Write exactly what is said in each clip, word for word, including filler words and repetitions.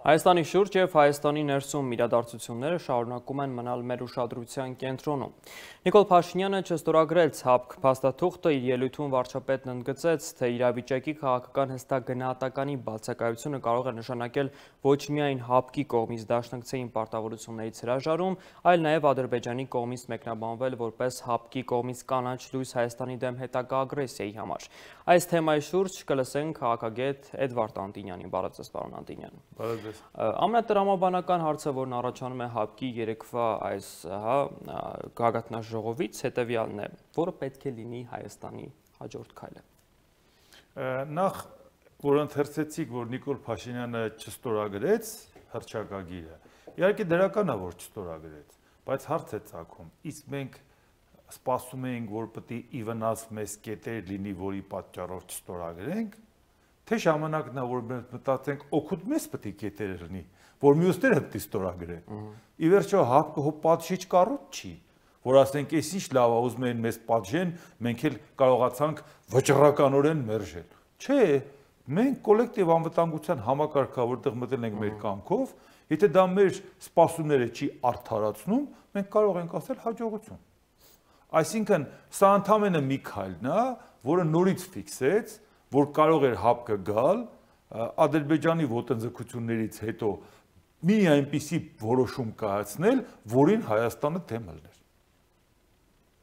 Հայաստանի շուրջ և Հայաստանի ներսում իրադարձությունները շարունակում են մնալ մեր ուշադրության կենտրոնում։ Նիկոլ Փաշինյանը չստորագրեց ՀԱՊԿ փաստաթուղթը, իր ելույթում վարչապետն ընդգծեց, թե իրավիճակի քաղաքական հստակ գնահատականի բացակայությունը կարող է նշանակել ոչ միայն ՀԱՊԿ-ի կողմից դաշնակցային պարտավորություններից հրաժարում, այլ նաև Ադրբեջանի կողմից մեկնաբանվել որպես ՀԱՊԿ-ի կողմից կանաչ լույս Հայաստանի դեմ հետագա ագրեսիայի համար։ Այս թեմայի շուրջ կլսենք քաղաքագետ Էդվարդ Անտինյանին։ Բարև ձեզ, պարոն Անտինյան։ Ամենատրամաբանական հարցը, որն առաջանում է ՀԱՊԿ-ի երեկվա այս գագաթնաժողովից, հետևյալն է, որը պետք է լինի Հայաստանի հաջորդ քայլը։ Նախ, որ ընթերցեցիք, որ Նիկոլ Փաշինյանը չստորագրեց հռչակագիրը, իհարկե դրական է, որ չստորագրեց, բայց հարց է ծագում, իսկ մենք սպասում էինք, որ պետք է ի վնաս մեզ կետեր լինի, որի պատճառով չստորագրենք, թե ժամանակն է, որ մենք մտածենք, օգուտ մեզ պետք է կետեր լինի, որ մյուսները պետք է ստորագրեն։ Ի վերջո ՀԱՊԿ-ը պատժիչ կառույց չի, որ ասենք, այս ինչ լավ է, ուզում են մեզ պատժեն, մենք էլ կարողացանք վճռականորեն մերժել։ Չէ, մենք կոլեկտիվ անվտանգության համակարգը, որտեղ մտել ենք մեր կամքով, եթե դա մեր սպասումները չի արդարացնում, մենք կարող ենք ասել հաջողություն։ Այսինքն, սա ընդամենը մի քայլն է, որը նորից ֆիքսեց, որ կարող էր ՀԱՊԿ-ը գալ, Ադրբեջանի ոտնձգություններից հետո մի այնպիսի որոշում կայացնել, որին Հայաստանը դեմ լներ։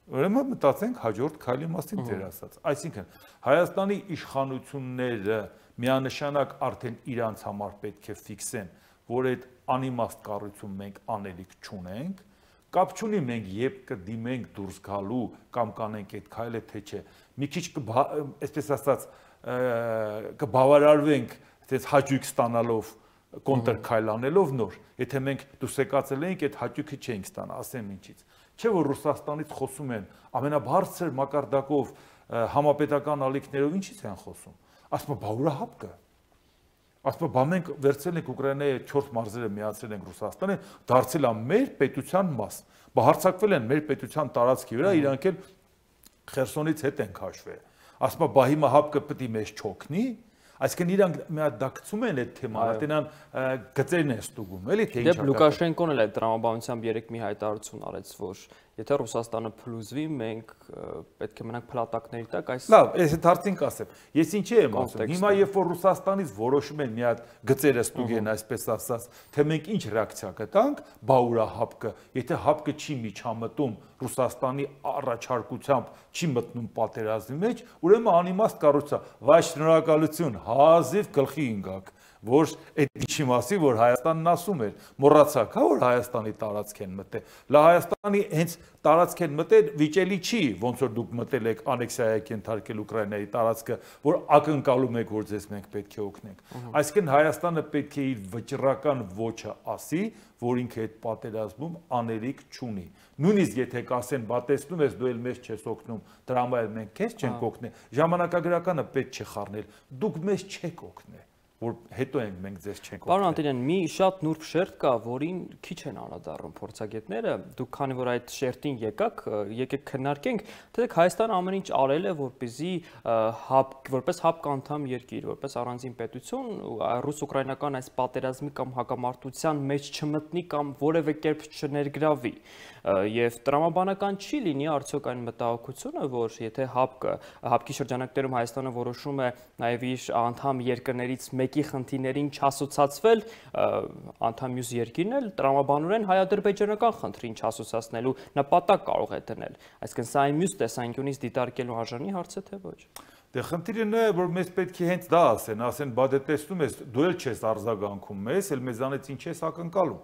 Ուրեմն մտածենք հաջորդ քայլի մասին ձեր ասած։ Այսինքն, Հայաստանի իշխանությունները միանշանակ արդեն իրանց համար պետք է ֆիքսեն, որ այդ անիմաստ կառույցում մենք անելիք չունենք, կապ չունի մենք երբ կդիմենք դուրս գալու կամ կանենք այդ քայլը թե չէ։ Մի քիչ այսպես ասած կբավարարվենք այդպես հաճույք ստանալով կոնտր քայլ անելով նոր, եթե մենք դուսեկացել էինք այդ հաճույքը չէինք ստանա, ասեմ ինչից։ Չէ որ Ռուսաստանից խոսում են ամենաբարձր մակարդակով համապետական ալիքներով ինչից են խոսում։ Ասում են բա ուրա ՀԱՊԿ-ը։ Ասում բա մենք վերցրել ենք Ուկրաինայի չորս մարզերը միացրել ենք Ռուսաստանը, դարձել է մեր պետության մաս։ Բա հարձակվել են մեր պետության տարածքի վրա, իրանք էլ Խերսոնից հետ են քաշվել։ Ասում բա հիմա ՀԱՊԿ-ը պետք է մեզ չօգնի, այսինքն իրանք մի հատ դակցում են այդ թեման, այդենան գծերն են ստուգում, էլի թե ինչ։ Դե Լուկաշենկոն էլ այդ տրամաբանությամբ երեք մի հայտարարություն արեց, որ եթե Ռուսաստանը փլուզվի, մենք պետք է մնանք փլատակների տակ, այս Լավ, այս հարցին կասեմ։ Ես ինչի եմ ասում։ Հիմա երբ որ Ռուսաստանից որոշում են մի հատ գծերը ստուգեն, այսպես ասած, թե մենք ինչ ռեակցիա կտանք, բա ուրա ՀԱՊԿ-ը, եթե ՀԱՊԿ-ը չի միջամտում Ռուսաստանի առաջարկությամբ, չի մտնում պատերազմի մեջ, ուրեմն անիմաստ կառույց է։ Վայ շնորհակալություն, հազիվ գլխի ընկաք, որ այդ ինչի մասի, որ Հայաստանն ասում էր, մոռացաք, հա, որ Հայաստանի տարածք են մտել։ Լա Հայաստանի հենց տարածք են մտել վիճելի չի, ոնց որ դուք մտել եք անեքսիայի ենթարկել Ուկրաինայի տարածքը, որ ակնկալում եք, որ ձեզ մենք պետք է օգնենք։ Այսինքն Հայաստանը պետք է իր վճռական ոչը ասի, որ ինքը այդ պատերազմում անելիք չունի։ Նույնիսկ եթե կասեն, բա տեսնում ես, դու էլ մեզ չես օգնում, դրա համար մենք քեզ չենք օգնել, ժամանակագրականը պետք չէ խառնել, դուք մեզ չեք օգնել, որ հետո ենք մենք ձեզ չենք օգնել։ Պարոն Անտոնյան, մի շատ նուրբ շերտ կա, որին քիչ են անդրադառնում փորձագետները, դուք քանի որ այդ շերտին եկաք, եկեք քննարկենք, թե Հայաստանը ամեն ինչ արել է, որպեսզի որպես ՀԱՊԿ անդամ երկիր, որպես առանձին պետություն, ռուս-ուկրաինական այս պատերազմի կամ հակամարտության մեջ չմտնի կամ որևէ կերպ չներգրավի։ Եվ տրամաբանական չի լինի արդյոք այն մտահոգությունը, որ եթե ՀԱՊԿ-ը, ՀԱՊԿ-ի շրջանակներում Հայաստանը որոշում է նաև իր անդամ երկրներից մեկի խնդիրներին չասոցացվել, անդամ մյուս երկիրն էլ տրամաբանորեն հայ-ադրբեջանական խնդրին չասոցացնելու նպատակ կարող է դնել։ Այսինքն սա այն մյուս տեսանկյունից դիտարկելու արժանի հարց է, թե ոչ։ Դե խնդիրը նա է, որ մեզ պետք է հենց դա ասեն, ասեն, բա դե տեսնում ես, դու էլ չես արձագանքում մեզ, էլ մեզանից ինչ ես ակնկալում։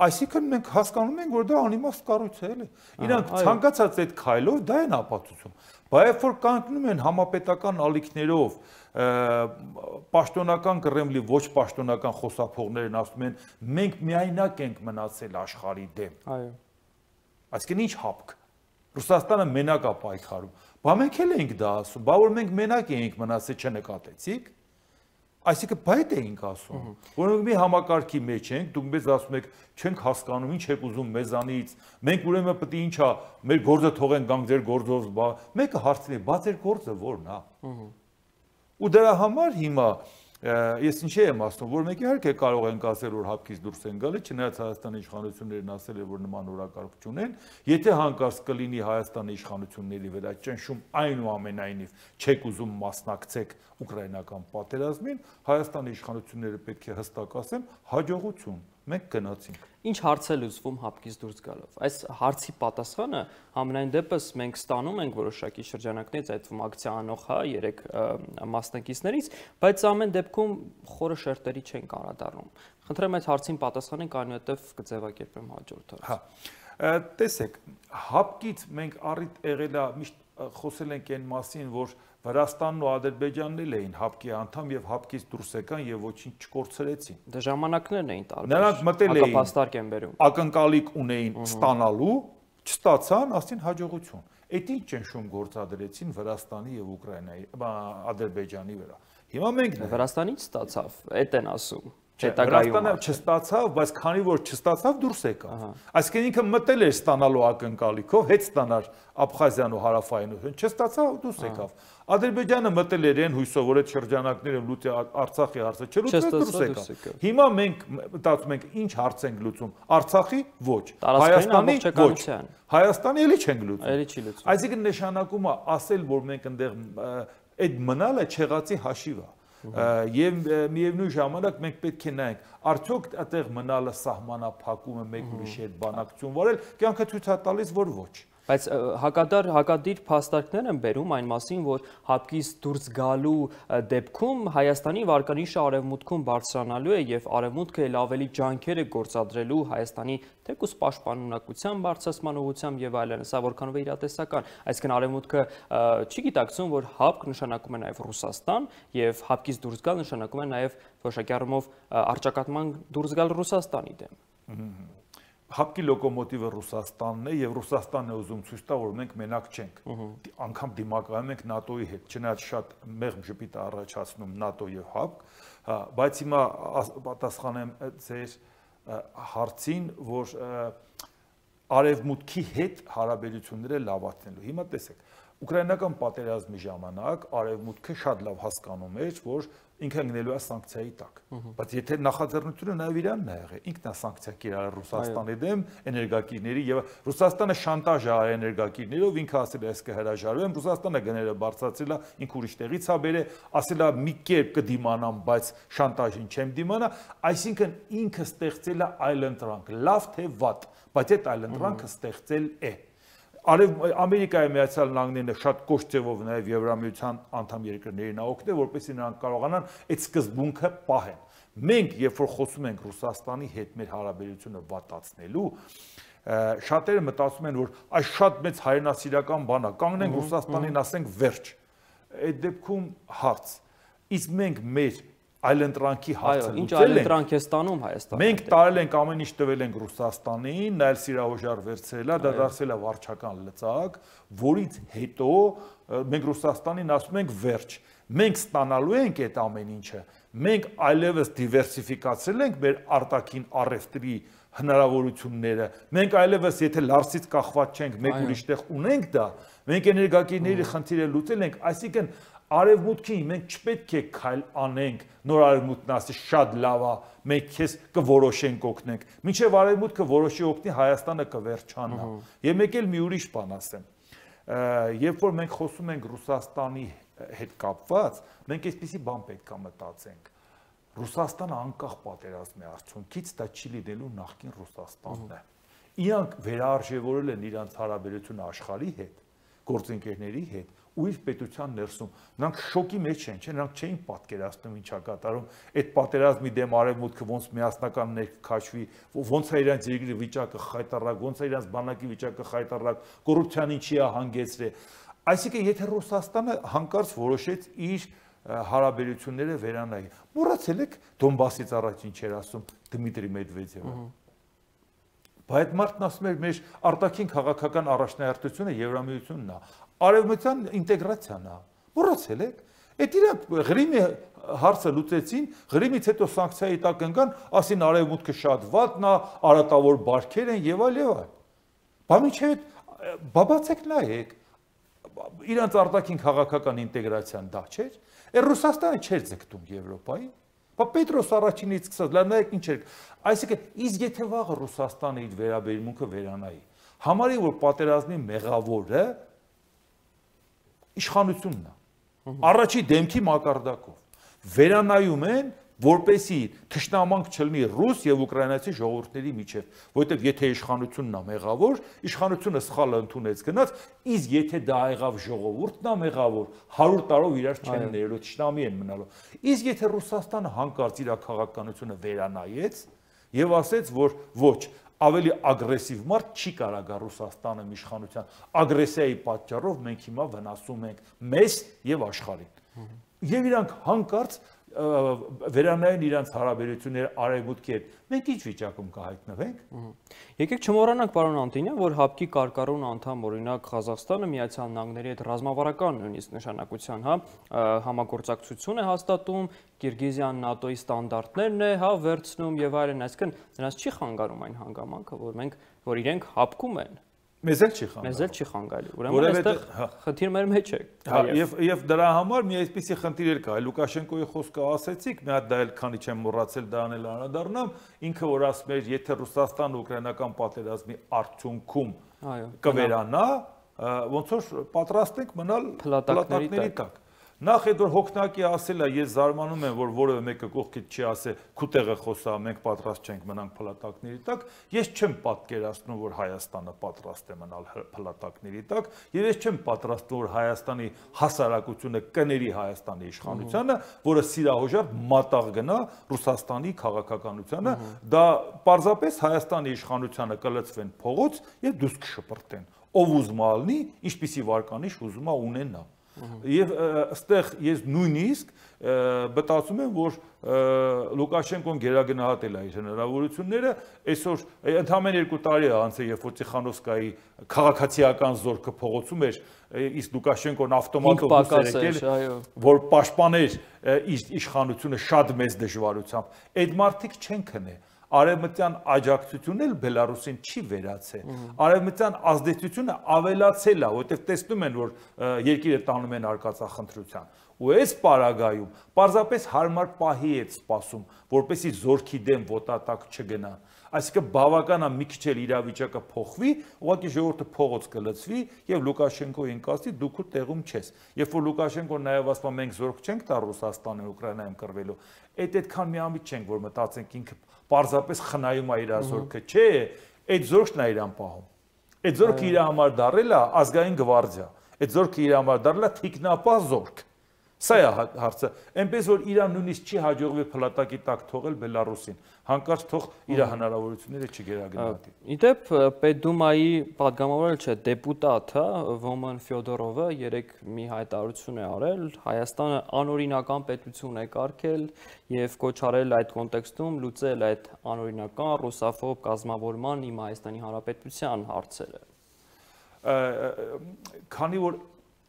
Այսինքն մենք հասկանում ենք, որ դա անիմաստ կառույց է, էլի։ Իրանք ցանկացած այդ քայլով դա են ապացուցում։ Բայց երբ որ կանգնում են համապետական ալիքներով, պաշտոնական Կրեմլի ոչ պաշտոնական խոսափողներն ասում են, մենք միայնակ ենք մնացել աշխարհի դեմ։ Այո։ Այսինքն ինչ ՀԱՊԿ։ Ռուսաստանը մենակ է պայքարում։ Բա մենք էլ ենք դա ասում, բա որ մենք մենակ էինք մնացել, չնկատեցիք։ Այսինքն բայց էինք ասում, որ մի համակարգի մեջ ենք, դուք մեզ ասում եք, չենք հասկանում, ինչ եք ուզում մեզանից, մենք ուրեմն պետք է ինչա, մեր գործը թողեն գանք ձեր գործով, բա մեկը հարցնի, բա ձեր գործը ո՞րն է։ Ու դրա համար հիմա Ես ինչի եմ ասում, որ մենք իհարկե կարող ենք ասել, որ հապկից դուրս են գալի, չնայած Հայաստանի իշխանություններն ասել են, որ նման օրակարգ չունեն, եթե հանկարծ կլինի Հայաստանի իշխանությունների վրա ճնշում, այնուամենայնիվ չեք ուզում մասնակցեք ուկրաինական պատերազմին, Հայաստանի իշխանությունները պետք է հստակ ասեն, հաջողություն, մենք գնացինք։ Ինչ հարց է լուծվում հապկից դուրս գալով։ Այս հարցի պատասխանը համենայն դեպս մենք ստանում ենք որոշակի շրջանակներից, այդ թվում ակցիա անող հա երեք մասնակիցներից, բայց ամեն դեպքում խորը շերտերի չենք անդրադառնում։ Խնդրեմ այդ հարցին պատասխանենք, այնուհետև կձևակերպեմ հաջորդ հարցը։ Հա, տեսեք, հապկից մենք առիթ եղել է, միշտ խոսել ենք այն մասին, որ Վրաստանն ու Ադրբեջանն էլ էին հապկի անդամ եւ հապկից դուրս եկան եւ ոչինչ չկորցրեցին։ Դե ժամանակներն էին տարբեր։ Նրանք մտել էին, հակապաստարկ են բերում։ Ակնկալիք ունեին ստանալու, չստացան, ասին հաջողություն։ Այդ ինչ ճնշում գործադրեցին Վրաստանի եւ Ուկրաինայի, Ադրբեջանի վրա։ Հիմա մենք Վրաստանից ստացավ, այդ են ասում։ Վրաստանը չստացավ, բայց քանի որ չստացավ դուրս եկավ։ Այսինքն ինքը մտել էր ստանալու ակնկալիքով, հետ ստանար Աբխազիան ու Հարավային, չստացավ դուրս եկավ։ Ադրբեջանը մտել էր այն հույսով, որ այդ շրջանակները լուծի Արցախի հարցը չլուծեց դուրս եկավ։ Հիմա մենք մտածում ենք ինչ հարց ենք լուծում։ Արցախի ոչ, Հայաստանի ոչ։ Հայաստանի էլի չենք լուծում։ Էլի չի լուծում։ Այսինքն նշանակում է ասել, որ մենք այնտեղ այդ մնալը չեղածի հաշիվ է։ Եվ միևնույն ժամանակ մենք պետք է նայենք, արդյոք այդտեղ մնալը սահմանափակում է մեկ ուրիշի հետ բանակցություն վարել, կյանքը ցույց է տալիս, որ ոչ։ Բայց հակադար հակադիր փաստարկներ են բերում այն մասին, որ հապկից դուրս գալու դեպքում Հայաստանի վարկանիշը արևմուտքում բարձրանալու է եւ արևմուտքը ել ավելի ջանքեր է գործադրելու Հայաստանի թեկուզ պաշտպանունակության բարձրացման ուղղությամբ եւ այլն, սա որքանով է իրատեսական, այսինքն արևմուտքը չի գիտակցում, որ հապկ նշանակում է նաեւ Ռուսաստան եւ հապկից դուրս գալ նշանակում է նաեւ որոշակի առումով առճակատման դուրս գալ Ռուսաստանի դեմ։ Հապկի լոկոմոտիվը Ռուսաստանն է եւ Ռուսաստանն է ուզում ցույց տա, որ մենք մենակ չենք։ Անկամ դիմակայում ենք ՆԱՏՕ-ի հետ, չնայած շատ մեղմ ժպիտ է առաջացնում ՆԱՏՕ եւ հապկ, բայց հիմա պատասխանեմ ձեր հարցին, որ արևմուտքի հետ հարաբերությունները լավացնելու։ Հիմա տեսեք, ուկրաինական պատերազմի ժամանակ արևմուտքը շատ լավ հասկանում էր, որ ինքը գնելու է սանկցիայի տակ։ Բայց եթե նախաձեռնությունը նաև իրանն է եղել, ինքն է սանկցիա կիրառել Ռուսաստանի դեմ էներգակիրների եւ Ռուսաստանը շանտաժ է արել էներգակիրներով, ինքը ասել է, ես կհրաժարվեմ, Ռուսաստանը գները բարձրացրել է, ինքը ուրիշ տեղից է բերել, ասել է մի կերպ կդիմանամ, բայց շանտաժին չեմ դիմանա, այսինքն ինքը ստեղծել է այլընտրանք, լավ թե վատ, բայց այդ այլընտրանքը ստեղծել է։ Ամերիկայի Միացյալ Նահանգները շատ կոշտ ձևով նաև Եվրամիության անդամ երկրներին օգնել, որպեսզի նրանք կարողանան այդ սկզբունքը պահեն։ Մենք, երբ որ խոսում ենք Ռուսաստանի հետ մեր հարաբերությունը վատացնելու, շատերը մտածում են, որ այս շատ մեծ հայրենասիրական բան է, կանգնենք Ռուսաստանին, ասենք վերջ։ Այդ դեպքում հարց։ Իսկ մենք մեր այլընտրանքի հարցը լուծել ենք։ Ինչ այլընտրանք է ստանում Հայաստանը։ Մենք տարել ենք ամեն ինչ տվել ենք Ռուսաստանին, նայել սիրահոժար վերցրել է, դա դարձել է վարչական լծակ, որից հետո մենք Ռուսաստանին ասում ենք վերջ։ Մենք ստանալու ենք այդ ամեն ինչը։ Մենք այլևս դիվերսիֆիկացրել ենք մեր արտաքին առևտրի հնարավորությունները։ Մենք այլևս եթե լարսից կախված չենք, մեկ ուրիշտեղ ունենք դա, մենք էներգակիրների խնդիրը լուծել ենք, այսինքն Արևմուտքին մենք չպետք է քայլ անենք, նոր արևմուտքն ասի շատ լավ է, մենք քեզ կորոշենք օգնենք։ Մինչև արևմուտքը որոշի օգնի, Հայաստանը կվերջանա։ Եվ մեկ էլ մի ուրիշ բան ասեմ։ Երբ որ մենք խոսում ենք Ռուսաստանի հետ կապված, մենք այսպիսի բան պետք է մտածենք։ Ռուսաստանը անկախ պատերազմի արդյունքից դա չի լինելու նախկին Ռուսաստանն է։ Իրանք վերարժևորել են իրանց հարաբերությունը աշխարհի հետ, գործընկերների հետ ու իր պետության ներսում։ Նրանք շոկի մեջ են, չէ՞, նրանք չէին պատկերացնում ինչա կատարում։ Այդ պատերազմի դեմ արևմուտքը ոնց միասնական ներքաշվի, ոնց է իրանց երկրի վիճակը խայտարակ, ոնց է իրանց բանակի վիճակը խայտարակ, կոռուպցիան ինչի է հանգեցրել։ Այսինքն, եթե Ռուսաստանը հանկարծ որոշեց իր հարաբերությունները վերանայի, մոռացել եք Դոնբասից առաջ ինչ էր ասում Դմիտրի Մեդվեդևը։ Բայց այդ մարդն ասում էր, մեր արտաքին քաղաքական առաջնահերթությունը Եվրամիությունն է, արևմտյան ինտեգրացիան է։ Մոռացել եք։ Այդ իրանք Ղրիմի հարցը լուծեցին, Ղրիմից հետո սանկցիայի տակ ընկան, ասին արևմուտքը շատ վատն է, արատավոր բարքեր են եւ այլ եւ այլ։ Բայց միջև բաբացեք նայեք, իրանց արտաքին քաղաքական ինտեգրացիան դա չէր։ Է Ռուսաստանը չէր ձգտում Եվրոպայի։ Բա Պետրոս առաջինից սկսած, լավ նայեք ինչ էր։ Այսինքն, իսկ եթե վաղը Ռուսաստանը իր վերաբերմունքը վերանայի, համարի որ պատերազմի մեղավորը իշխանությունն է։ Առաջի դեմքի մակարդակով վերանայում են, որպեսի թշնամանք չլինի ռուս եւ ուկրաինացի ժողովուրդների միջև, որովհետեւ եթե իշխանությունն է մեղավոր, իշխանությունը սխալը ընդունեց գնաց, իսկ եթե դա եղավ ժողովուրդն է մեղավոր, հարյուր տարով իրար չեն ներելու, թշնամի են մնալու։ Իսկ եթե Ռուսաստանը հանկարծ իր քաղաքականությունը վերանայեց եւ ասեց, որ ոչ, ավելի ագրեսիվ մարդ չի կարող գա Ռուսաստանը իշխանության, ագրեսիայի պատճառով մենք հիմա վնասում ենք մեզ եւ աշխարհին։ Եվ իրանք հանկարծ վերանային իրանց հարաբերությունները արևմուտքի հետ, մենք ինչ վիճակում կհայտնվենք։ Եկեք չմոռանանք, պարոն Անտոնյան, որ ՀԱՊԿ-ի կարգառուն անդամ, օրինակ Ղազախստանը Միացյալ Նահանգների հետ ռազմավարական նույնիսկ նշանակության, հա, համագործակցություն է հաստատում, Կիրգիզիան ՆԱՏՕ-ի ստանդարտներն է, հա, վերցնում եւ այլն, այսինքն նրանց չի խանգարում այն հանգամանքը, որ մենք, որ իրենք ՀԱՊԿ-ում են։ Մեզ էլ չի խանգարում։ Մեզ էլ չի խանգարի։ Ուրեմն այստեղ խնդիր մեր մեջ է։ Եվ եւ դրա համար մի այսպիսի խնդիր էլ կա։ Լուկաշենկոյի խոսքը ասեցիք, մի հատ դա էլ քանի չեմ մոռացել դա անել անդառնամ, ինքը որ ասում էր, եթե Ռուսաստանը ուկրաինական պատերազմի արդյունքում կվերանա, ոնց որ պատրաստ ենք մնալ փլատակների տակ։ Նախ այդ որ հոգնակի ասելա, ես զարմանում եմ, որ որևէ մեկը կողքից չի ասել, քուտեղը խոսա, մենք պատրաստ չենք մնանք փլատակների տակ, ես չեմ պատկերացնում, որ Հայաստանը պատրաստ է մնալ փլատակների տակ, եւ ես չեմ պատրաստում, որ Հայաստանի հասարակությունը կների Հայաստանի իշխանությանը, որը սիրահոժար մատաղ գնա Ռուսաստանի քաղաքականությանը, դա պարզապես Հայաստանի իշխանությանը կլցվեն փողոց եւ դուրս կշպրտեն։ Ով ուզում է լինի, ինչպիսի վարկանիշ ուզում է ունենա։ Եվ այստեղ ես նույնիսկ մտածում եմ, որ Լուկաշենկոն գերագնահատել է իր հնարավորությունները, այսօր ընդամենը երկու տարի է անցել, երբ որ Տիխանովսկայի քաղաքացիական զորքը փողոցում էր, իսկ Լուկաշենկոն ավտոմատով դուրս եկել, որ պաշտպաներ իր իշխանությունը շատ մեծ դժվարությամբ, այդ մարդիկ չեն քնե։ Արևմտյան աջակցությունն էլ Բելարուսին չի վերացել։ Արևմտյան ազդեցությունը ավելացել է, որովհետև տեսնում են, որ երկիրը տանում են արկածախնդրության։ Ու այս պարագայում պարզապես հարմար պահի է սպասում, որպեսզի զորքի դեմ ոտատակ չգնա։ Այսինքն բավական է մի քիչ էլ իրավիճակը փոխվի, ուղղակի ժողովուրդը փողոց կլցվի եւ Լուկաշենկոին կասի դու քո տեղում չես։ Երբ որ Լուկաշենկոն նաեւ ասում է մենք զորք չենք տա Ռուսաստանին Ուկրաինայում կռվելու, այդ այդքան միամիտ չենք, որ մտածենք ինքը պարզապես խնայում է իր զորքը, չէ, այդ զորքն է իրան պահում։ Այդ զորքը իր համար դարել է ազգային գվարդիա։ Այդ զորքը իր համար դարել է թիկնապահ զորք։ Սա է հարցը, այնպես որ իրան նույնիսկ չի հաջողվի փլատակի տակ թողել Բելարուսին, հանկարծ թող իր հնարավորությունները չգերագնահատի։ Իդեպ Պետդումայի падգամավորը չէ, դեպուտատ, հա, Ոման Ֆյոդորովը երեք մի հայտարարություն է արել, Հայաստանը անօրինական պետություն է կարգել եւ կոչ արել այդ կոնտեքստում լուծել այդ անօրինական ռուսաֆոբ կազմավորման իմ Հայաստանի Հանրապետության հարցերը։ Քանի որ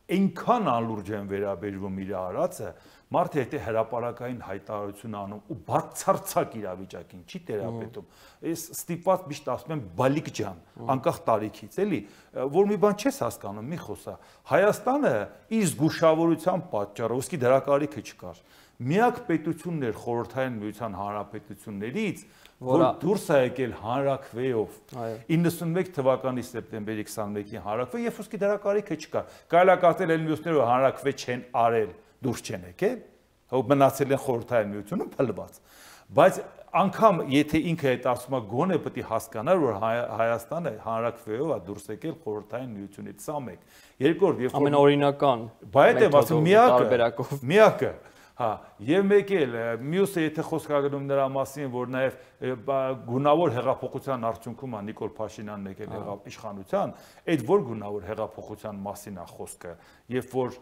այնքան անլուրջ են վերաբերվում իր արածը, մարդը եթե հրապարակային հայտարարություն անում ու բացարձակ իրավիճակին չի տերապետում, ես ստիպված միշտ ասում եմ բալիկ ջան, անկախ տարիքից, էլի, որ մի բան չես հասկանում, մի խոսա, Հայաստանը իր զգուշավորության պատճառով, ոսկի դրա կարիքը չկար, միակ պետությունն էր խորհրդային միության հանրապետություններից, որ դուրս է եկել հանրաքվեով իննսունմեկ թվականի սեպտեմբերի քսանմեկին հանրաքվե, երբ ոսկի դրա կարիքը չկար, կարելի է կարծել էլ մյուսները որ հանրաքվե չեն արել, դուրս չեն եկել, հո մնացել են խորհրդային միությունում փլված, բայց անգամ եթե ինքը այդ ասում է գոնե պետք է հասկանար, որ Հայաստանը հանրաքվեով է դուրս եկել խորհրդային միությունից, սա մեկ, երկրորդ, երբ որ ամենաօրինական, բայց եմ ասում միակը, միակը Հա, եւ մեկ էլ մյուսը եթե խոսք ագնում նրա մասին, որ նաեւ գունավոր հեղափոխության արդյունքում է Նիկոլ Փաշինյանն եկել եղավ իշխանության, այդ որ գունավոր հեղափոխության մասին է խոսքը, երբ որ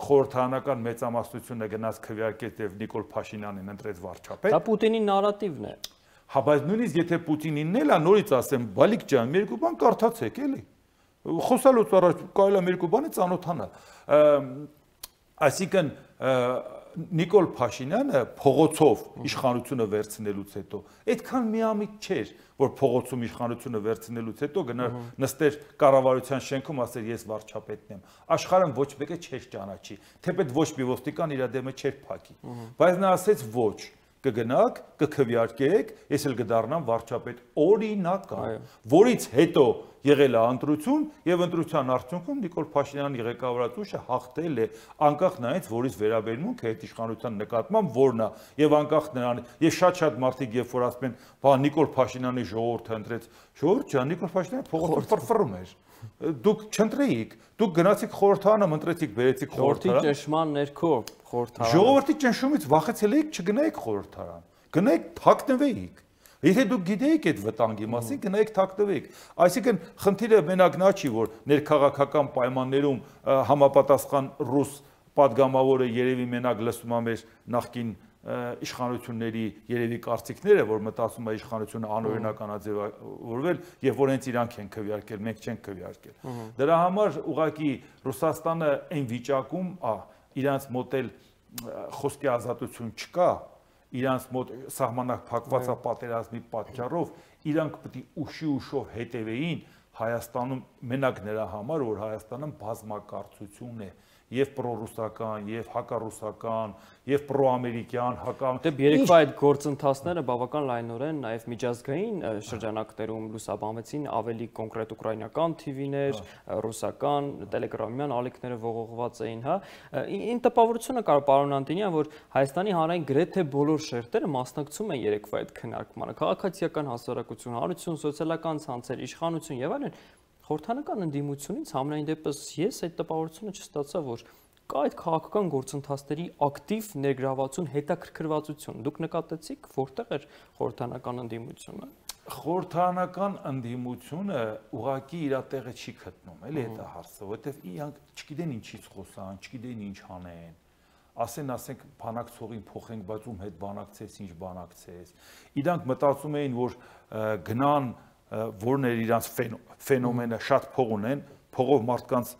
խորհրդարանական մեծամասնությունը գնաց քվեարկեց եւ Նիկոլ Փաշինյանին ընտրեց վարչապետ։ Դա Պուտինի նարատիվն է։ Հա, բայց նույնիսկ եթե Պուտինինն էլ է, նորից ասեմ, բալիկ ջան, մի երկու բան կարդացեք, էլի։ Խոսալուց առաջ կարելի է մի երկու բանի ծանոթանալ։ Այսինքն Նիկոլ Փաշինյանը փողոցով իշխանությունը վերցնելուց հետո այդքան միամիտ չէր, որ փողոցում իշխանությունը վերցնելուց հետո գնար նստեր կառավարության շենքում, ասեր ես վարչապետն եմ։ Աշխարհում ոչ մեկը չէր ճանաչի, թեպետ ոչ մի ոստիկան իր դեմը չէր փակի։ Բայց նա ասեց ոչ, կգնաք, կքվեարկեք, ես էլ կդառնամ վարչապետ օրինական, որից հետո եղել է ընտրություն եւ ընտրության արդյունքում Նիկոլ Փաշինյանի ղեկավարած ուժը հաղթել է, անկախ նրանից, որից վերաբերմունքը այդ իշխանության նկատմամբ որն է, եւ անկախ նրանից, եւ շատ-շատ մարդիկ երբ որ ասում են, բա Նիկոլ Փաշինյանի ժողովուրդը ընտրեց, ժողովուրդ ջան, Նիկոլ Փաշինյանը փողոցով ֆռֆռում էր։ Դուք չընտրեիք, դուք գնացիք խորհրդարանը, ընտրեցիք, բերեցիք խորհրդարան։ Խորհրդի ճնշման ներքո խորհրդարան։ Ժողովրդի ճնշումից վախեցել եք, չգնայիք խորհրդարան։ Գնայիք թաքնվեիք։ Եթե դուք գիտեիք այդ վտանգի մասին, գնայիք թաքնվեիք։ Այսինքն խնդիրը մենակ նա չի, որ ներքաղաքական պայմաններում համապատասխան ռուս падգամավորը երևի մենակ լսում է մեր նախկին իշխանությունների երևի կարծիքները, որ մտածում է իշխանությունը անօրինականաձևավորվել եւ որ հենց իրանք են քվեարկել, մենք չենք քվեարկել։ Դրա համար ուղղակի Ռուսաստանը այն վիճակում, ա, իրանց մոտ էլ խոսքի ազատություն չկա, իրանց մոտ սահմանակ փակված է պատերազմի պատճառով, իրանք պետք է ուշի ուշով հետևեին Հայաստանում մենակ նրա համար, որ Հայաստանում բազմակարծություն է եւ պրոռուսական, եւ հակառուսական, եւ պրոամերիկյան, հակա Դե երեկվա այդ գործընթացները բավական լայնորեն նաեւ միջազգային շրջանակներում լուսաբանվեցին, ավելի կոնկրետ ուկրաինական թի վիներ, ռուսական, տելեգրամյան ալիքները ողողված էին, հա։ Ին տպավորությունը կար պարոն Անտոնյան, որ Հայաստանի հանրային գրեթե բոլոր շերտերը մասնակցում են երեկվա այդ քննարկմանը, քաղաքացիական հասարակություն, հանրություն, սոցիալական ցանցեր, իշխանություն եւ այլն։ Խորհրդանական ընդդիմությունից համենայն դեպս ես այդ տպավորությունը չստացա, որ կա այդ քաղաքական գործընթացների ակտիվ ներգրավվածություն, հետաքրքրվածություն։ Դուք նկատեցիք, որտեղ էր խորհրդանական ընդդիմությունը։ Խորհրդանական ընդդիմությունը ուղղակի իր տեղը չի գտնում, էլի դա հարցը, որովհետև իրանք չգիտեն ինչից խոսան, չգիտեն ինչ անեն։ Ասեն, ասենք, բանակցողին փոխենք, բայց ում հետ բանակցես, ինչ բանակցես։ Իրանք մտածում էին, որ գնան որն էր իրանց ֆենոմենը, շատ փող ունեն, փողով մարդկանց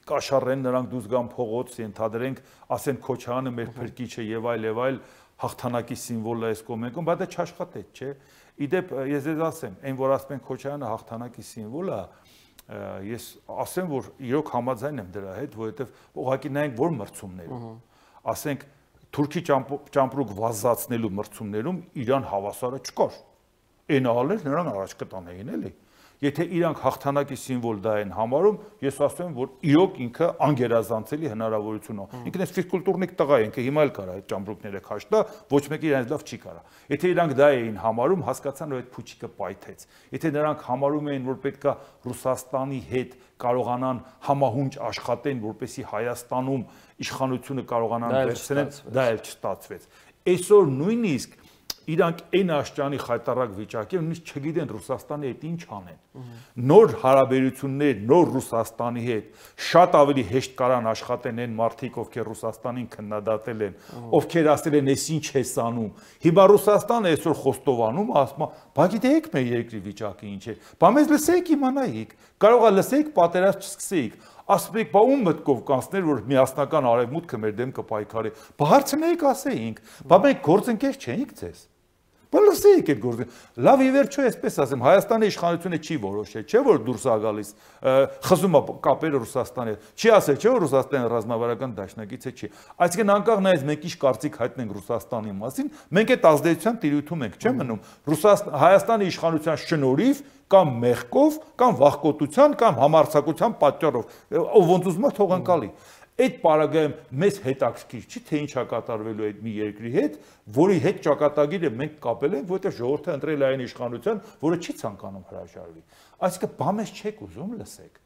կաշառեն, նրանք դուրս գան փողոց, ենթադրենք, ասեն Քոչարյանը մեր փրկիչը եւ այլ եւ այլ հաղթանակի սիմվոլը էս կողմենքում, բայց դա չաշխատեց, չէ։ Իդեպ ես ձեզ ասեմ, այն որ ասում են Քոչարյանը հաղթանակի սիմվոլ է, ես ասեմ, որ իրոք համաձայն եմ դրա հետ, որովհետեւ ուղղակի նայենք որ մրցումներ։ Ասենք Թուրքի ճամպրուկ վազացնելու մրցումներում Իրան հավասարը չկար։ Այն ալեր նրանք առաջ կտանեին էլի։ Եթե իրանք հաղթանակի սիմվոլ դա են համարում, ես ասեմ, որ իրոք ինքը անգերազանցելի հնարավորություն է։ Ինքն էս ֆիզկուլտուրնիկ տղա է, ինքը հիմա էլ կարա այդ ճամպրուկները քաշտա, ոչ մեկը իրենց լավ չի կարա։ Եթե իրանք դա էին համարում, հասկացան, որ այդ փուչիկը պայթեց։ Եթե նրանք համարում էին, որ պետքա Ռուսաստանի հետ կարողանան համահունչ աշխատեն, որպեսզի Հայաստանում իշխանությունը կարողանան վերցնեն, դա էլ չստացվեց։ Այսօր նույնիսկ իրանք այն աշճանի խայտարակ վիճակի նույնիսկ չգիտեն Ռուսաստանի հետ ինչ անեն։ Նոր հարաբերություններ, նոր Ռուսաստանի հետ շատ ավելի հեշտ կարան աշխատեն այն մարդիկ, ովքեր Ռուսաստանին քննադատել են, ովքեր ասել են, «Էս ինչ ես անում»։ Հիմա Ռուսաստանը այսօր խոստովանում, ասում է, «Բա գիտեք մեր երկրի վիճակը ինչ է»։ Բա մեզ լսեիք, իմանայիք։ Կարող է լսեիք, պատերազմ չսկսեիք։ Ասում եք, բա ում մտքով կանցներ, որ միասնական արևմուտքը մեր դեմ կպայքարի։ Բա հարցնեիք, ասեինք։ Բա մենք գործընկեր չենք ձեզ։ Բա լսեիք այդ գործը։ Լավ ի վերջո այսպես ասեմ, Հայաստանի իշխանությունը չի որոշել, չէ՞ որ դուրս է գալիս, խզում է կապերը Ռուսաստանի հետ։ Չի ասել, չէ՞ որ Ռուսաստանը ռազմավարական դաշնակից է, չի։ Այսինքն անկախ նայած մենք ինչ կարծիք հայտնենք Ռուսաստանի մասին, մենք այդ ազդեցության տիրույթում ենք, չէ՞ մնում։ Հայաստանի իշխանության շնորհիվ կամ մեղքով, կամ վախկոտության, կամ համարձակության պատճառով, ով ոնց ուզում է թող անցալի։ Այդ պարագայում մեզ հետաքրքիր չի, թե ինչ է կատարվելու այդ մի երկրի հետ, որի հետ ճակատագիրը մենք կապել ենք, որովհետև ժողովուրդը ընտրել է այն իշխանության, որը չի ցանկանում հրաժարվի։ Այսինքն բա մեզ չեք ուզում լսեք։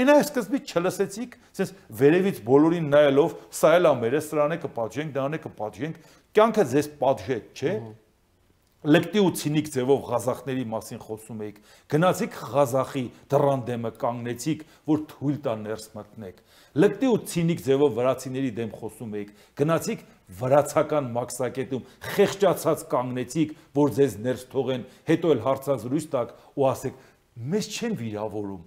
Այն այս սկզբից չլսեցիք, ասես վերևից բոլորին նայելով, սա էլ է մերը, սրան է կպատժենք, դրան է կպատժենք, կյանքը ձեզ պատժեց, չէ՞։ Լեկտի ու ցինիկ ձևով Ղազախների մասին խոսում եք, գնացիք Ղազախի դռան դեմը կանգնեցիք, որ թույլ տան ներս մտնեք։ Լեկտի ու ցինիկ ձևով վրացիների դեմ խոսում եք, գնացիք վրացական մաքսակետում խեղճացած կանգնեցիք, որ ձեզ ներս թողեն, հետո էլ հարցազրույց տակ ու ասեք, մեզ չեն վիրավորում։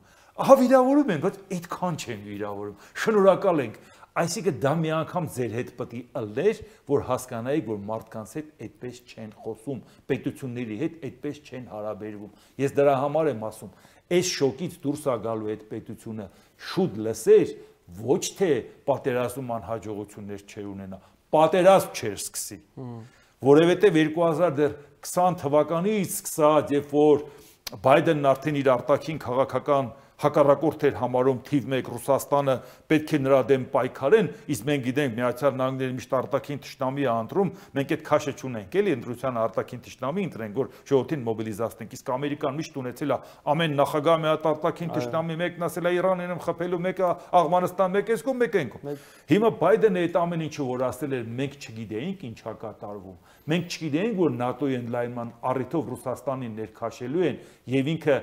Ահա վիրավորում են, բայց այդքան չեն վիրավորում։ Շնորհակալ ենք։ Այսինքն դա մի անգամ ձեր հետ պետք է ըլներ, որ հասկանայիք, որ մարդկանց հետ այդպես չեն խոսում, պետությունների հետ այդպես չեն հարաբերվում։ Ես դրա համար եմ ասում, այս շոկից դուրս ա գալու այդ պետությունը շուտ լսեր, ոչ թե պատերազմում անհաջողություններ չէր ունենա, պատերազմ չէր սկսի։ Որովհետև երկու հազար քսան թվականից սկսած, երբ որ Բայդենն արդեն իր արտաքին քաղաքական հակառակորդ էր համարում թիվ մեկ Ռուսաստանը պետք է նրա դեմ պայքարեն, իսկ մենք գիտենք Միացյալ Նահանգները միշտ արտաքին թշնամի է ընտրում, մենք այդ քաշը չունենք, էլի ընտրության արտաքին թշնամի ընտրենք, որ ժողովրդին մոբիլիզացնենք, իսկ Ամերիկան միշտ ունեցել է ամեն նախագահ մի հատ արտաքին թշնամի, մեկն ասել է Իրանին եմ խփելու, մեկը Աղվանստան, մեկը էսկում, մեկը ենկում։ Հիմա Բայդենը այդ ամեն ինչը որ ասել էր, մենք չգիտեինք ինչ է կատարվում։ Մենք չգիտեինք, որ ՆԱՏՕ-ի ընդլայնման առիթով Ռուսաստանին ներքաշելու են եւ ինքը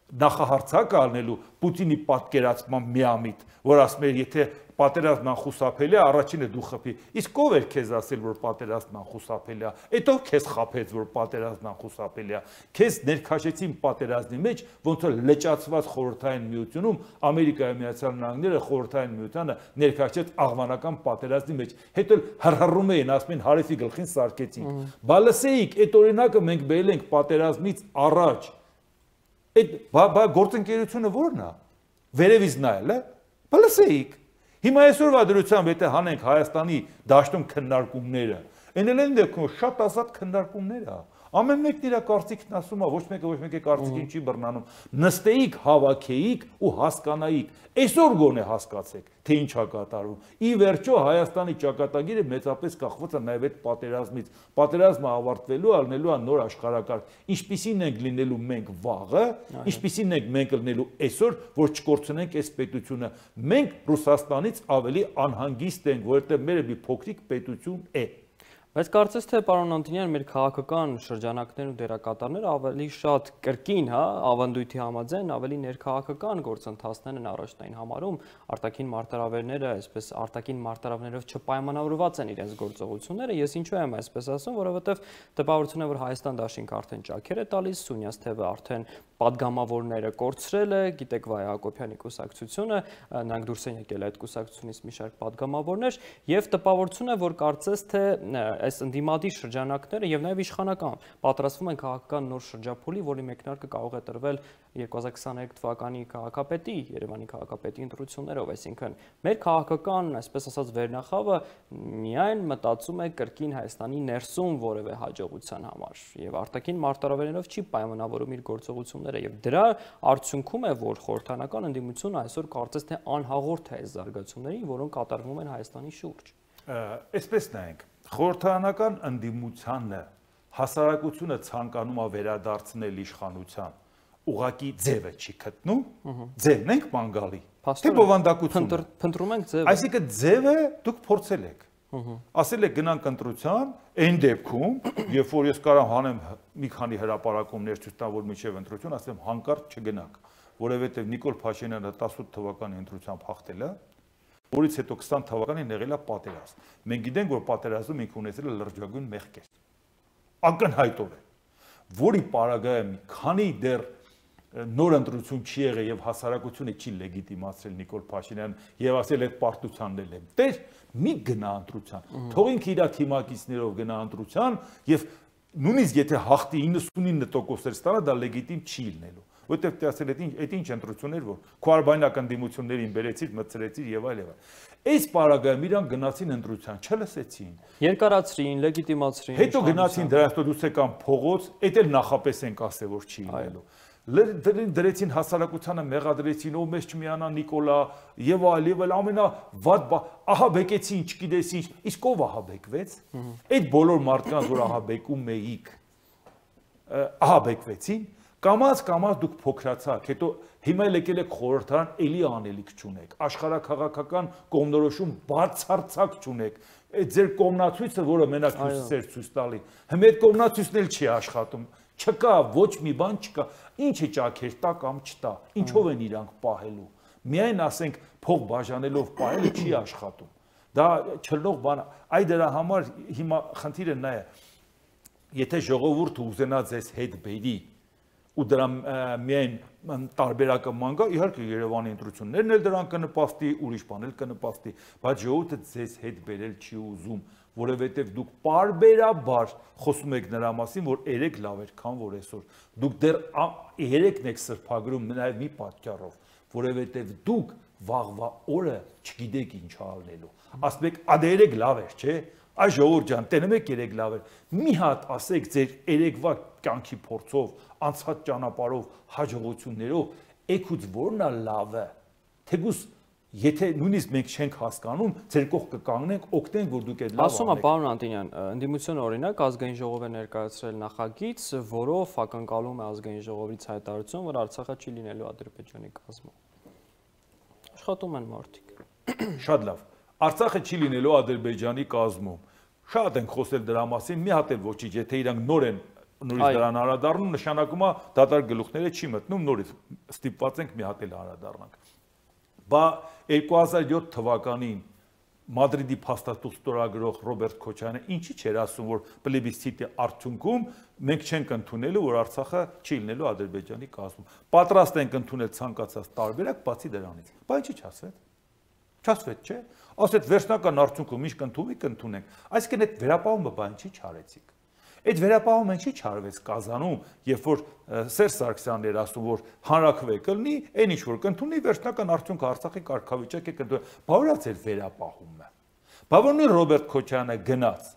նախահարցակ առնելու Պուտինի պատկերացման միամիտ, որ ասում էր, եթե պատերազմն անխուսափելի է, առաջինը դու խփի։ Իսկ ով էր քեզ ասել, որ պատերազմն անխուսափելի է։ Այդ ով քեզ խափեց, որ պատերազմն անխուսափելի է։ Քեզ ներքաշեցին պատերազմի մեջ, ոնց որ լճացված խորհրդային միությունում Ամերիկայի Միացյալ Նահանգները խորհրդային միությանը ներքաշեց աղվանական պատերազմի մեջ։ Հետո հռհռում էին, ասում են հարևի գլխին սարքեցին։ Բա լսեիք, այդ օրինակը մենք բերել ենք պատերազմից առաջ։ Այդ բա գործընկերությունը ո՞րն է։ Վերևից նայել, է։ Բա լսեիք։ Հիմա այսօրվա դրությամբ եթե հանենք Հայաստանի դաշտում քննարկումները, այնել են դեպքում շատ ազատ քննարկումներ է։ Ամեն մեկն իր կարծիքն ասում է, ոչ մեկը ոչ մեկի կարծիքին չի բռնանում։ Նստեիք, հավաքեիք ու հասկանայիք։ Այսօր գոնե հասկացեք, թե ինչ է կատարվում։ Ի վերջո Հայաստանի ճակատագիրը մեծապես կախված է նաև այդ պատերազմից։ Պատերազմը ավարտվելու է, ալնելու է նոր աշխարհակարգ։ Ինչպիսին ենք լինելու մենք վաղը, ինչպիսին ենք մենք լինելու այսօր, որ չկորցնենք այս պետությունը։ Մենք Ռուսաստանից ավելի անհանգիստ ենք, որովհետև մեր մի փոքրիկ պետություն է։ Բայց կարծես թե պարոն Անտոնյան, մեր քաղաքական շրջանակներն ու դերակատարները ավելի շատ կրկին, հա, ավանդույթի համաձայն ավելի ներքաղաքական գործընթացներ են առաջնային համարում, արտաքին մարտահրավերները, այսպես արտաքին մարտահրավերներով չպայմանավորված են իրենց գործողությունները։ Ես ինչու եմ այսպես ասում, որովհետև տպավորություն է, որ Հայաստան դաշինքը արդեն ճաքեր է տալիս, Սունյաց թևը արդեն պատգամավորները կորցրել է, գիտեք Վայ Հակոբյանի կուսակցությունը, նրանք դուրս են եկել այդ կուսակցությունից մի շարք պատգամավորներ, եւ տպավորություն է, որ կարծես թե այս ընդդիմադիր շրջանակները եւ նաեւ իշխանական պատրաստվում են քաղաքական նոր շրջափուլի, որի մեկնարկը կարող է տրվել երկու հազար քսաներեք թվականի քաղաքապետի, Երևանի քաղաքապետի ընտրություններով, այսինքն մեր քաղաքական, այսպես ասած, վերնախավը միայն մտածում է կրկին Հայաստանի ներսում որևէ հաջողության համար եւ արտաքին մարտահրավերներով չի պայմանավորում իր գործողությունները եւ դրա արդյունքում է, որ խորհրդանական ընդդիմությունը այսօր կարծես թե անհաղորդ է այս զարգացումներին, որոնք կատարվում են Հայաստանի շուրջ։ Այսպես նայենք, խորհրդանական ընդդիմությանը հասարակությունը ցանկանում է վերադարձնել իշխանության, ուղղակի ձևը չի գտնում, ձևն ենք մանգալի, թե բովանդակությունը։ Փնտրում ենք ձևը։ Այսինքն ձևը դուք փորձել եք։ Ասել եք գնանք ընտրության, այն դեպքում, երբ որ ես կարամ հանեմ մի քանի հրապարակումներ ցույց տամ, որ միջև ընտրություն, ասեմ հանկարծ չգնանք, որովհետև Նիկոլ Փաշինյանը տասութ թվականի ընտրությամբ հաղթել է, որից հետո քսան թվականին եղել է պատերազմ։ Մենք գիտենք, որ պատերազմում ինքը ունեցել է լրջագույն մեղքեր։ Ակնհայտորեն, որի պարագայում մի քանի դեռ նոր ընտրություն չի եղել եւ հասարակությունը չի լեգիտիմացրել Նիկոլ Փաշինյանն եւ ասել այդ պարտությանն էլ եմ։ Տեր մի գնա ընտրության, թողինք իր թիմակիցներով գնա ընտրության եւ նույնիսկ եթե հաղթի իննսունինը տոկոսներ ստանա, դա լեգիտիմ չի լինելու։ Որտեւ դե ասել այդ ինչ այդ ինչ ընտրություններ որ քոարբայնական ընդդիմություններին բերեցիր, մտցրեցիր եւ այլ եւ այլ։ Այս պարագայում իրանք գնացին ընտրության, չլսեցին։ Երկարացրին, լեգիտիմացրին։ Հետո գնացին դրանց դուրս եկան փողոց, այդ էլ նախապես ենք ասել որ չի լինելու։ Դրեցին հասարակությանը մեղադրեցին, ով մեզ չմիանա Նիկոլա եւ այլ եւ այլ ամենավատ ահա բեկեցին, չգիտես ինչ, իսկ ով ահա բեկվեց։ Այդ բոլոր մարդկանց որ ահա բեկում էիք, ահա բեկվեցին, կամած կամած դուք փոքրացաք, հետո հիմա եկել եք խորհրդարան, էլի անելիք չունեք, աշխարհակաղակական կողմնորոշում բացարձակ չունեք, այդ ձեր կողմնացույցը, որը մենակ հյուսիսեր ցույց տալի, հիմա այդ կողմնացույցն էլ չի աշխատում, չկա, ոչ մի բան չկա, ինչ է ճաքեր տա կամ չտա, ինչով են իրանք պահելու, միայն ասենք փող բաժանելով պահելը չի աշխատում, դա չլնող բան, այ դրա համար հիմա խնդիրը նա է, եթե ժողովուրդը ուզենա ձեզ հետ բերի, ու դրա միայն տարբերակը ման գա, իհարկե Երևանի ընտրություններն էլ դրան կնպաստի, ուրիշ բան էլ կնպաստի, բայց ժողովուրդը ձեզ հետ բերել չի ուզում, որովհետև դուք պարբերաբար խոսում եք նրա մասին, որ երեք լավ էր, քան որ այսօր։ Դուք դեռ երեքն եք սրբագրում նաև մի պատճառով, որովհետև դուք վաղվա օրը չգիտեք ինչ անելու։ Ասում եք, ադե երեք լավ էր, չէ՞։ Այս ժողովուրդ ջան, տենում եք երեք լավ էր։ Մի հատ ասեք ձեր երեկվա կյանքի փորձով, անցած ճանապարհով, հաջողություններով, եկուց որն է լավը։ Թեկուզ եթե նույնիսկ մենք չենք հասկանում, ձեր կողքը կանգնենք, օգնենք, որ դուք այդ լավ անեք։ Ասում եմ, պարոն Անտոնյան, ընդդիմությունը օրինակ ազգային ժողով է ներկայացրել նախագիծ, որով ակնկալում է ազգային ժողովից հայտարարություն, որ Արցախը չի լինելու Ադրբեջանի կազմում։ Աշխատում են մարդիկ։ Շատ լավ։ Արցախը չի լինելու Ադրբեջանի կազմում։ Շատ ենք խոսել դրա մասին, մի հատ էլ ոչինչ, եթե իրանք նոր են նորից դրան անդրադառնում, նշանակում է դատարկ գլուխները չի մտնում, նորից ստիպված ենք մի հատ էլ անդրադառնանք։ Բա երկու հազար յոթ թվականին Մադրիդի փաստաթուղթ ստորագրող Ռոբերտ Քոչարյանը ինչի՞ չէր ասում, որ պլեբիսցիտի արդյունքում մենք չենք ընդունելու, որ Արցախը չի լինելու Ադրբեջանի կազմում։ Պատրաստ ենք ընդունել ցանկացած տարբերակ, բացի դրանից։ Բայց ինչի՞ չասվեց։ Չասվեց, չէ՞։ Ասեց վերջնական արդյունքում ինչ կընդունի, կընդունենք։ Այսինքն այդ վերապահումը բան չի չարեցիք։ Այդ վերապահումը ինչի՞ չարվեց Կազանում, երբ որ Սերժ Սարգսյանն էր ասում, որ հանրաքվե կլինի, այն ինչ որ կընդունի, վերջնական արդյունքը Արցախի կարգավիճակ է կընդունի։ Բա ո՞ր է ձեր վերապահումը։ Բա ո՞ր Ռոբերտ Քոչարյանը գնաց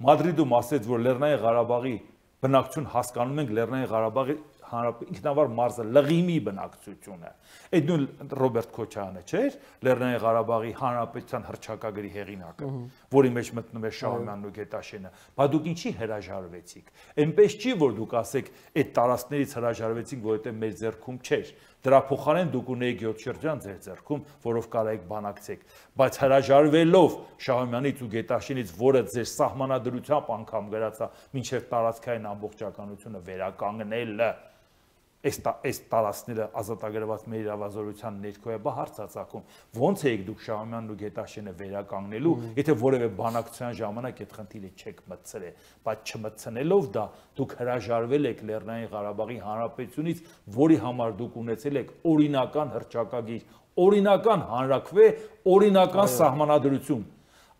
Մադրիդում ասեց, որ Լեռնային Ղարաբաղի բնակչություն հասկանում ենք Լեռնային Ղարաբաղի ինքնավար մարզը լղիմի բնակչությունը։ Այդ նույն Ռոբերտ Քոչարյանը չէր Լեռնային Ղարաբաղի հանրապետության հռչակագրի հեղինակը, որի մեջ մտնում է Շահումյանն ու Գետաշենը։ Բա դուք ինչի հրաժարվեցիք։ Էնպես չի, որ դուք ասեք այդ տարածքներից հրաժարվեցիք, որովհետև մեր ձեռքում չէր։ Դրա փոխարեն դուք ունեիք յոթ շրջան ձեր ձեռքում, որով կարայիք բանակցեք, բայց հրաժարվելով Շահումյանից ու Գետաշենից, որը ձեր սահմանադրությամբ անգամ գրածա մինչև տարածքային ամբողջականությունը վերականգնելը, այս այս տարածքները ազատագրված մեր իրավազորության ներքո է, բա հարց ծագում, ո՞նց էիք դուք Շահումյանն ու Գետաշենը վերականգնելու, եթե որևէ բանակցության ժամանակ այդ խնդիրը չեք մտցրել, բայց չմտցնելով դա դուք հրաժարվել եք Լեռնային Ղարաբաղի Հանրապետությունից, որի համար դուք ունեցել եք օրինական հռչակագիր, օրինական հանրաքվե, օրինական սահմանադրություն։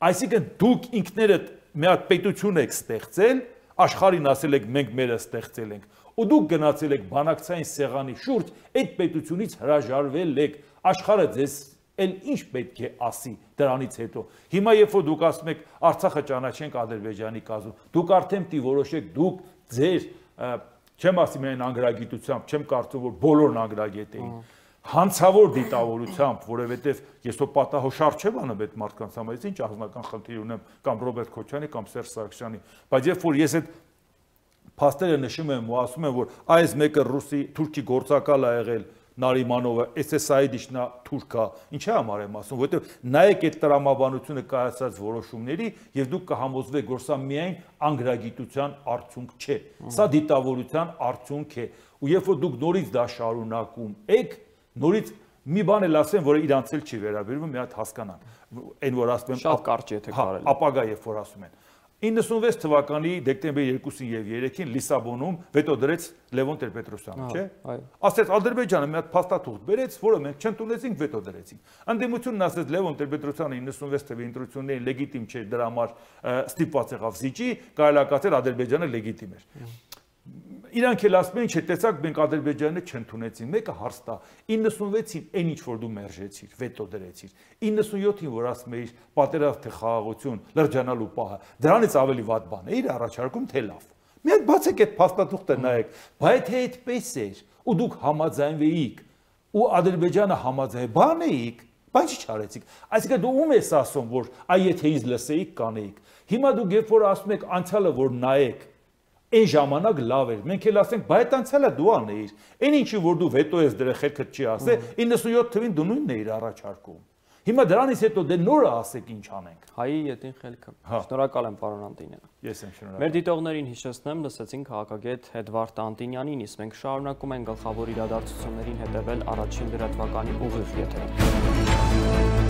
Այսինքն դուք ինքներդ մի հատ պետություն եք ստեղծել, աշխարհին ասել եք մենք մերը ստեղծել ենք, ու դուք գնացել եք բանակցային սեղանի շուրջ, այդ պետությունից հրաժարվել եք, աշխարհը ձեզ էլ ինչ պետք է ասի դրանից հետո։ Հիմա երբ որ դուք ասում եք Արցախը ճանաչենք Ադրբեջանի կազմում, դուք արդեն պիտի որոշեք, դուք ձեր, չեմ ասի միայն անգրագիտությամբ, չեմ կարծում, որ բոլորն անգրագետ էին, հանցավոր դիտավորությամբ, որովհետև ես հո պատահոշար չեմ անում այդ մարդկանց համար, ինչ անձնական խնդիր ունեմ կամ Ռոբերտ Քոչարյանի կամ Սերժ Սարգսյանի, բայց երբ որ ես այդ փաստերը նշում եմ ու ասում եմ, որ այս մեկը ռուսի, թուրքի գործակալ է եղել Նարիմանովը, էս է Սաիդիչնա թուրքա, ինչի համար եմ ասում, որովհետև նայեք այդ տրամաբանությունը կայացած որոշումների եւ դուք կհամոզվեք, որ սա միայն անգրագիտության արդյունք չէ, սա դիտավորության արդյունք է, ու երբ որ դուք նորից դա շարունակում եք, նորից մի բան էլ ասեմ, որը իրանց էլ չի վերաբերվում, մի հատ հասկանան, այն որ ասում եմ, շատ կարճ եթե կարելի։ Ապագա երբ որ ասում են իննսունվեց թվականի դեկտեմբերի երկուսին եւ երեքին Լիսաբոնում վետո դրեց Լևոն Տեր-Պետրոսյանը, չէ՞։ Ասեց Ադրբեջանը մի հատ փաստաթուղթ բերեց, որը մենք չընդունեցինք, վետո դրեցինք։ Ընդդիմությունն ասեց Լևոն Տեր-Պետրոսյանը իննսունվեց թվականի ընտրություններին լեգիտիմ չէր, դրա համար ստիպված եղավ զիջի, կարելակացել Ադրբեջանը լեգիտիմ էր։ Իրանք էլ ասում են, չէ, տեսակ մենք Ադրբեջանը չընդունեցին, մեկը հարց տա, իննսունվեցին այն ինչ որ դու մերժեցիր, վետո դրեցիր, իննսունյոթին որ ասում էիր պատերազմ թե խաղաղություն, լրջանալու պահը, դրանից ավելի վատ բան է, իր առաջարկում թե լավ։ Մի հատ բացեք այդ փաստաթուղթը նայեք, բայց թե այդպես էր, ու դուք համաձայնվեիք, ու Ադրբեջանը համաձայն բանեիք, բայց ի՞նչ արեցիք։ Այսինքն դու ում ես ասում, որ այ եթե ինձ լսեիք, կանեիք։ Հիմա դուք երբ որ ասում եք անցյալը որ նայեք, այն ժամանակ լավ էր։ Մենք էլ ասենք, բայց անցյալը դու անեիր։ Այն ինչի որ դու վետո ես դրել խելքդ չի ասել, իննսունյոթ թվին դու նույնն էիր առաջարկում։ Հիմա դրանից հետո դե նորը ասեք ինչ անենք։ Հայի ետին խելքը։ Շնորհակալ եմ պարոն Անտոնյան։ Ես եմ շնորհակալ։ Մեր դիտողներին հիշեցնեմ, լսեցինք քաղաքագետ Էդվարդ Անտոնյանին, իսկ մենք շարունակում ենք գլխավոր իրադարձություններին հետևել առաջին լրատվականի ուղիղ եթերում։